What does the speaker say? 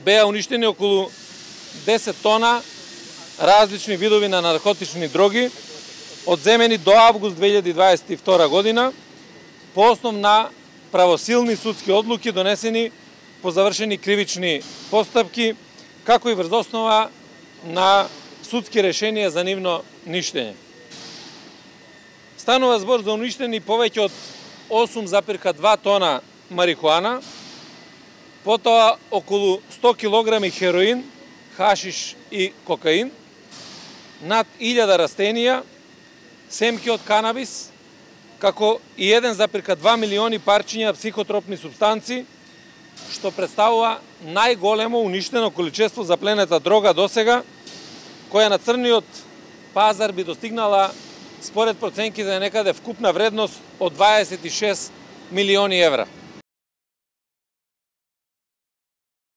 беа уништени околу 10 тона различни видови на наркотични дроги, одземени до август 2022 година, по основ на правосилни судски одлуки донесени по завршени кривични постапки, како и врз основа на судски решенија за нивно ништење. Станува збор за уништени повеќе од 8,2 тона марихуана, потоа околу 100 килограми хероин, хашиш и кокаин, над 1000 растенија, семки од канабис, како и 1,2 милиони парчиња психотропни супстанци, што представува најголемо уништено количество запленета дрога досега, која на црниот пазар би достигнала според проценките некаде вкупна вредност од 26 милиони евра.